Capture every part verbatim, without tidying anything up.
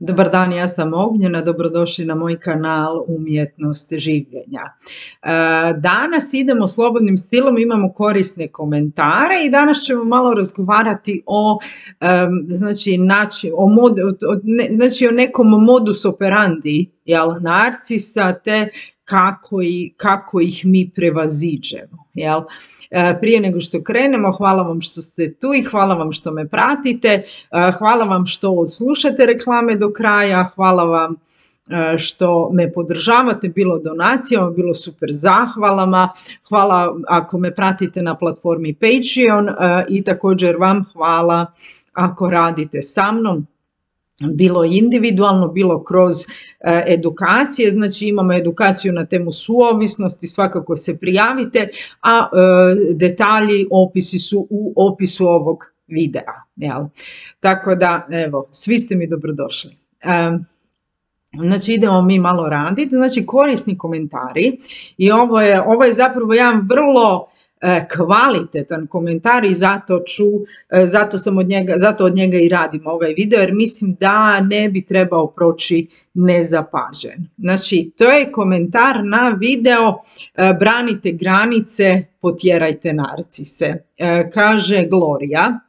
Dobar dan, ja sam Ognjena, dobrodošli na moj kanal Umjetnost življenja. Danas idemo slobodnim stilom, imamo korisne komentare i danas ćemo malo razgovarati o, znači, nači, o, mod, o, ne, znači, o nekom modus operandi, jel, narcisa, te kako, i, kako ih mi prevaziđemo. Jel. Prije nego što krenemo, hvala vam što ste tu i hvala vam što me pratite, hvala vam što slušate reklame do kraja, hvala vam što me podržavate, bilo donacijama, bilo super zahvalama, hvala ako me pratite na platformi Patreon i također vam hvala ako radite sa mnom, bilo individualno, bilo kroz e, edukacije, znači imamo edukaciju na temu suovisnosti, svakako se prijavite, a e, detalji, opisi su u opisu ovog videa. Jel? Tako da, evo, svi ste mi dobrodošli. E, Znači idemo mi malo raditi, znači korisni komentari i ovo je, ovo je zapravo jedan vrlo kvalitetan komentar i zato ću, zato sam od njega, zato od njega i radim ovaj video jer mislim da ne bi trebao proći nezapažen. Znači to je komentar na video Branite granice, potjerajte narcise. Kaže Gloria,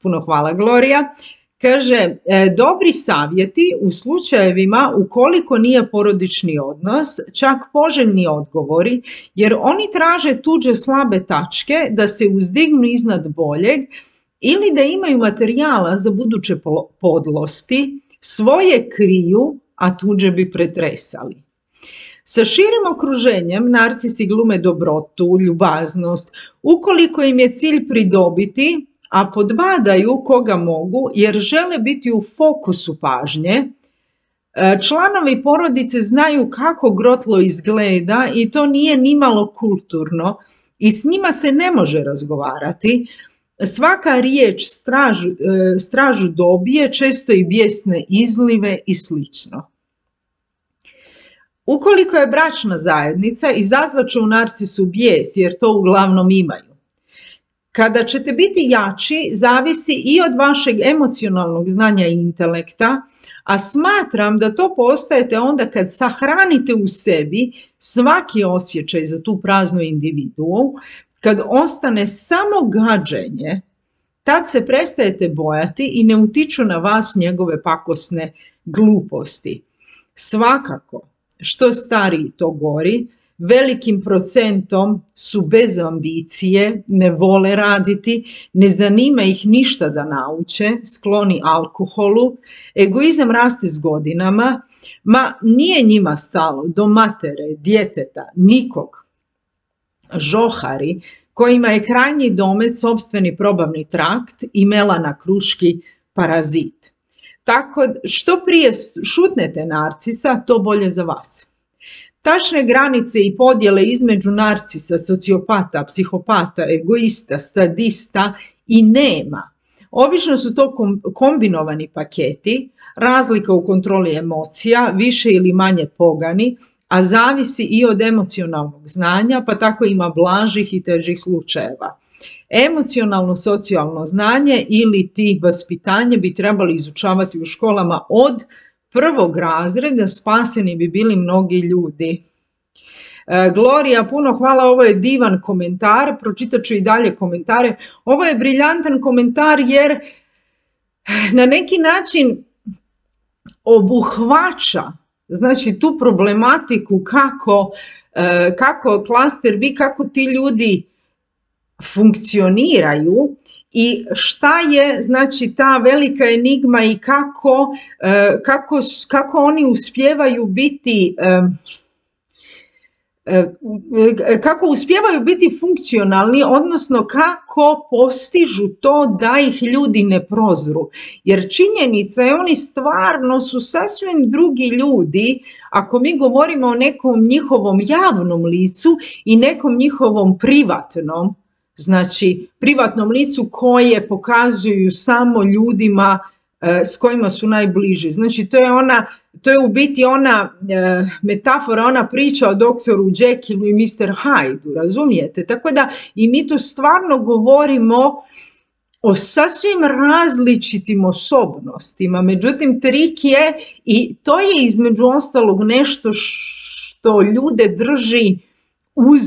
puno hvala Gloria. Kaže, dobri savjeti u slučajevima ukoliko nije porodični odnos, čak poželjni odgovori, jer oni traže tuđe slabe tačke da se uzdignu iznad boljeg ili da imaju materijala za buduće podlosti, svoje kriju, a tuđe bi pretresali. Sa širim okruženjem narcisi glume dobrotu, ljubaznost, ukoliko im je cilj pridobiti, a podbadaju koga mogu jer žele biti u fokusu pažnje. Članovi porodice znaju kako grotlo izgleda i to nije nimalo kulturno i s njima se ne može razgovarati. Svaka riječ stražu, stražu dobije, često i bijesne izlive i slično. Ukoliko je bračna zajednica, izazvat će u narcisu bijes jer to uglavnom imaju. Kada ćete biti jači, zavisi i od vašeg emocionalnog znanja i intelekta, a smatram da to postajete onda kad sahranite u sebi svaki osjećaj za tu praznu individuu, kad ostane samo gađenje, tad se prestajete bojati i ne utiču na vas njegove pakosne gluposti. Svakako, što stariji to gori, velikim procentom su bez ambicije, ne vole raditi, ne zanima ih ništa da nauče, skloni alkoholu, egoizam raste s godinama, ma nije njima stalo do matere, djeteta, nikog. Žohari, kojima je krajnji domet sopstveni probavni trakt i melana kruški parazit. Tako što prije šutnete narcisa, to bolje za vas. Tačne granice i podjele između narcisa, sociopata, psihopata, egoista, sadista i nema. Obično su to kombinovani paketi, razlika u kontroli emocija, više ili manje pogani, a zavisi i od emocionalnog znanja, pa tako ima blažih i težih slučajeva. Emocionalno socijalno znanje ili ti vaspitanje bi trebali izučavati u školama od prvog razreda, spaseni bi bili mnogi ljudi. E, Gloria, puno hvala, ovo je divan komentar, pročitat ću i dalje komentare. Ovo je briljantan komentar jer na neki način obuhvaća, znači, tu problematiku kako, e, kako klaster B, kako ti ljudi funkcioniraju i šta je, znači, ta velika enigma i kako, kako, kako oni uspijevaju biti kako uspijevaju biti funkcionalni, odnosno kako postižu to da ih ljudi ne prozru. Jer činjenica je, oni stvarno su sasvim drugi ljudi ako mi govorimo o nekom njihovom javnom licu i nekom njihovom privatnom, znači privatnom licu koje pokazuju samo ljudima e, s kojima su najbliži. Znači to je ona, to je u biti ona e, metafora, ona priča o doktoru Jekyllu i mister Hyde-u, razumijete? Tako da i mi tu stvarno govorimo o sasvim različitim osobnostima. Međutim, trik je, i to je između ostalog nešto što ljude drži uz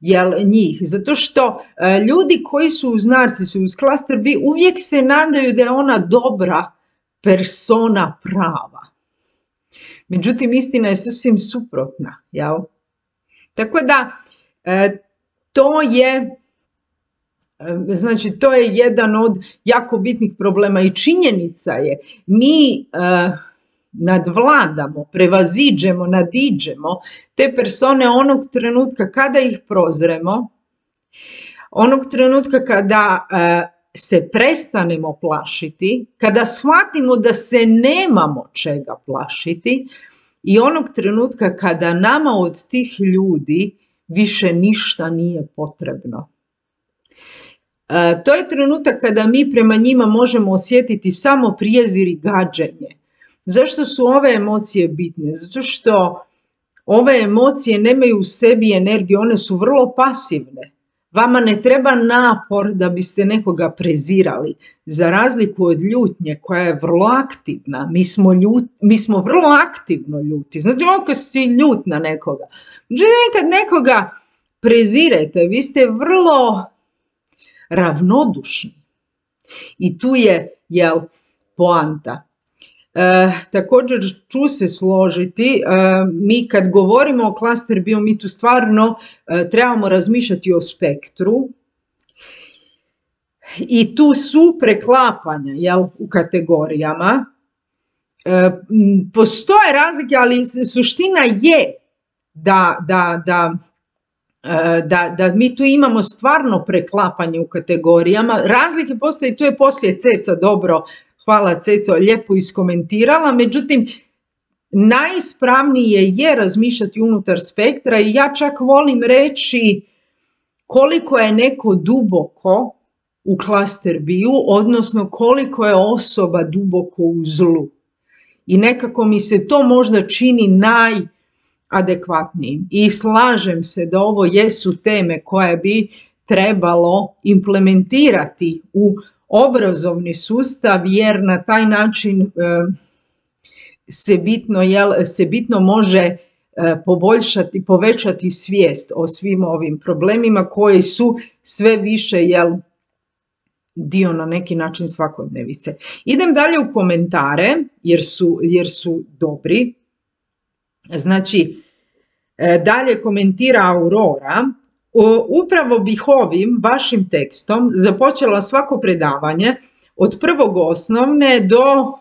jel, njih. Zato što e, ljudi koji su uz narcisu, uz klaster B, uvijek se nadaju da je ona dobra persona prava. Međutim, istina je sasvim suprotna. Jel? Tako da, e, to je Znači, to je jedan od jako bitnih problema i činjenica je, mi uh, nadvladamo, prevaziđemo, nadiđemo te persone onog trenutka kada ih prozremo, onog trenutka kada uh, se prestanemo plašiti, kada shvatimo da se nemamo čega plašiti i onog trenutka kada nama od tih ljudi više ništa nije potrebno. To je trenutak kada mi prema njima možemo osjetiti samo prijezir i gađenje. Zašto su ove emocije bitne? Zato što ove emocije nemaju u sebi energiju, one su vrlo pasivne. Vama ne treba napor da biste nekoga prezirali, za razliku od ljutnje koja je vrlo aktivna. Mi smo, ljut, mi smo vrlo aktivno ljuti. Znači, ako si ljut na nekoga. Međutim, kad nekoga prezirete, vi ste vrlo ravnodušni. I tu je, jel, poanta. E, također ću se složiti, e, mi kad govorimo o klaster B, mi tu stvarno e, trebamo razmišljati o spektru i tu su preklapanja, jel, u kategorijama. E, postoje razlike, ali suština je da, da, da Da, da mi tu imamo stvarno preklapanje u kategorijama. Razlike postoje, tu je poslije Ceca dobro, hvala Ceco, lijepo iskomentirala, međutim, najispravnije je razmišljati unutar spektra i ja čak volim reći koliko je neko duboko u klaster B-u, odnosno koliko je osoba duboko u zlu. I nekako mi se to možda čini naj adekvatnijim. I slažem se da ovo jesu teme koje bi trebalo implementirati u obrazovni sustav, jer na taj način e, se, bitno, jel, se bitno može e, poboljšati, povećati svijest o svim ovim problemima koji su sve više, jel, dio na neki način svakodnevice. Idem dalje u komentare, jer su, jer su dobri. Znači, dalje komentira Aurora, upravo bih ovim vašim tekstom započela svako predavanje od prvog osnovne do,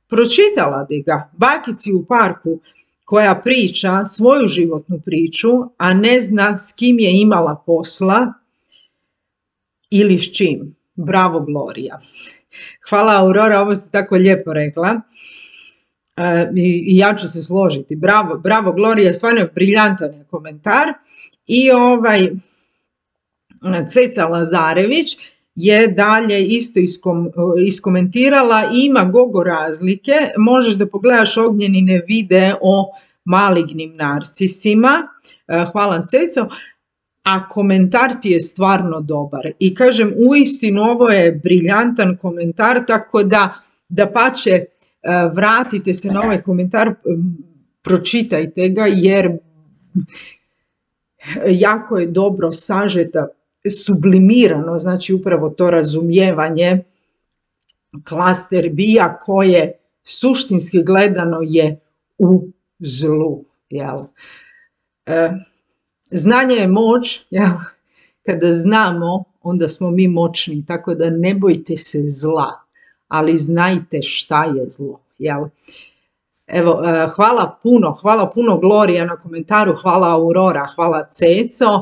pročitala bi ga, bakici u parku koja priča svoju životnu priču, a ne zna s kim je imala posla ili s čim. Bravo, Gloria. Hvala, Aurora, ovo ste tako lijepo rekla. I ja ću se složiti. Bravo, bravo, Gloria, stvarno je briljantan je komentar. I ovaj Ceca Lazarević je dalje isto iskom, iskomentirala, ima gogo razlike, možeš da pogledaš Ognjenine videe o malignim narcisima. Hvala, Ceco. A komentar ti je stvarno dobar. I kažem, uistinu ovo je briljantan komentar, tako da dapače, vratite se na ovaj komentar, pročitajte ga, jer jako je dobro sažeta, sublimirano, znači upravo to razumijevanje klaster B-a koje suštinski gledano je u zlu. Jel? E, znanje je moć, jel? Kada znamo, onda smo mi moćni, tako da ne bojte se zla, ali znajte šta je zlo. Jel? Evo, hvala puno, hvala puno Gloria na komentaru, hvala Aurora, hvala Ceco,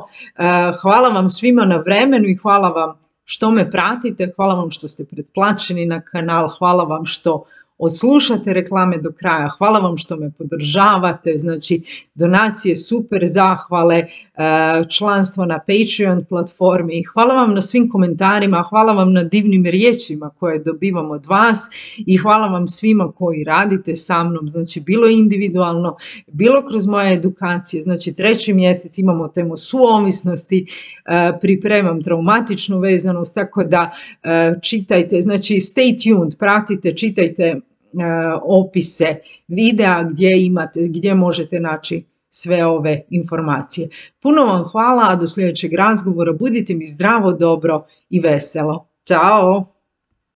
hvala vam svima na vremenu i hvala vam što me pratite, hvala vam što ste pretplaćeni na kanal, hvala vam što odslušate reklame do kraja. Hvala vam što me podržavate, znači donacije, super zahvale, članstvo na Patreon platformi. Hvala vam na svim komentarima, hvala vam na divnim riječima koje dobivam od vas i hvala vam svima koji radite sa mnom, znači bilo individualno, bilo kroz moje edukacije. Znači treći mjesec imamo temu suovisnosti, pripremam traumatičnu vezanost, tako da čitajte, znači stay tuned, pratite, čitajte opise videa gdje imate, gdje možete naći sve ove informacije. Puno vam hvala, a do sljedećeg razgovora budite mi zdravo, dobro i veselo. Ćao!